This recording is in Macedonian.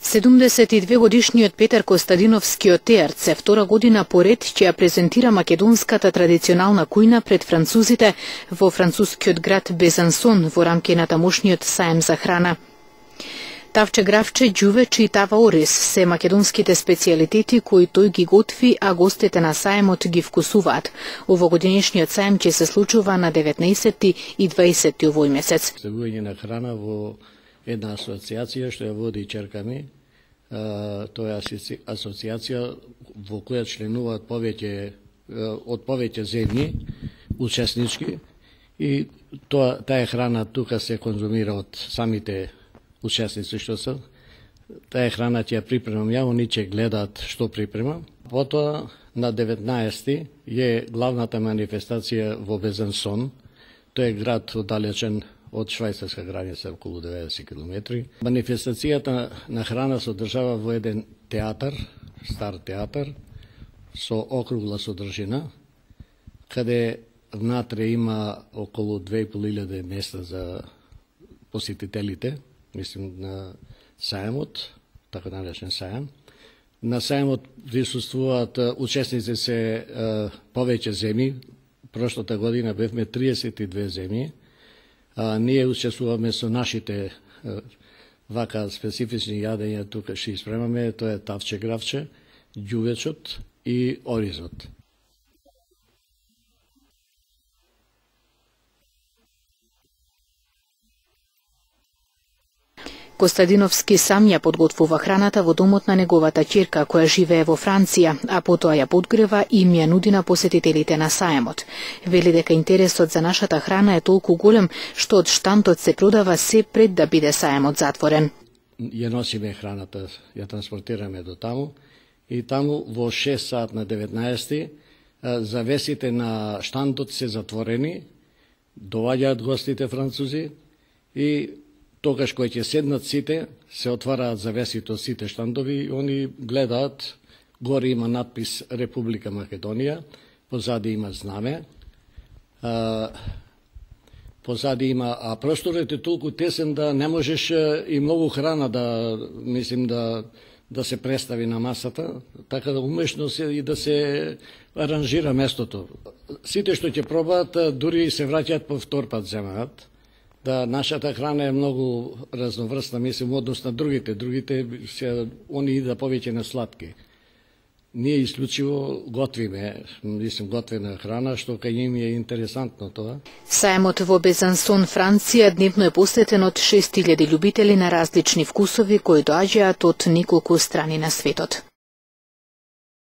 72-годишниот Петар Костадиновскиот теарц е втора година поред ќе ја презентира македонската традиционална кујна пред французите во францускиот град Безансон во рамки на тамошниот саем за храна. Тавче, гравче, ѓувече и тава ориз се македонските специјалитети кои тој ги готви, а гостите на саемот ги вкусуваат. Овогодинешниот саем ќе се случува на 19 и 20 овој месец. Ставување на храна во една асоциација што ја води ќерка ми. Тоа е асоциација во која членуваат од повеќе земји учеснички и таа храна тука се конзумира од самите учесници што се. Таа храна ќе ја припремам ја, они ќе гледаат што припремам. Потоа на 19 е главната манифестација во Безансон. Тој е град оддалечен од швајцарска граница околу 90 км. Манифестацијата на храна се одржава во еден театар, стар театар, со округла содржина, каде внатре има околу 2500 места за посетителите, мислим на саемот, така наречен саем. На саемот присуствуваат учесници се повеќе земји. Прошлата година бевме 32 земји. Ние учествуваме со нашите вака специфични јадења, тука што испремаме, тоа е тавче, гравче, ѓувечот и оризот. Костадиновски сам ја подготвува храната во домот на неговата ќерка која живее во Франција, а потоа ја подгрева и им ја нуди на посетителите на саемот. Вели дека интересот за нашата храна е толку голем што од штантот се продава се пред да биде саемот затворен. Ја носиме храната, ја транспортираме до таму и таму во 6 сат на 19 завесите на штантот се затворени, доаѓаат гостите французи и тогаш кои ќе седнат сите, се отвараат завесите од сите штандови и они гледаат, горе има надпис Република Македонија, позади има знаме, позади има, а просторот е толку тесен да не можеш и многу храна да се представи на масата, така да умешно се и да се аранжира местото. Сите што ќе пробаат, дури се враќаат по втор пат земаат. Да, нашата храна е многу разноврсна, мислим, однос на другите. Другите, они идат повеќе на сладки. Ние исклучиво готвиме, готвена храна, што кај ним е интересантно тоа. Саемот во Безансон, Франција, дневно е посетен од 6000 љубители на различни вкусови кои доаѓаат од неколку страни на светот.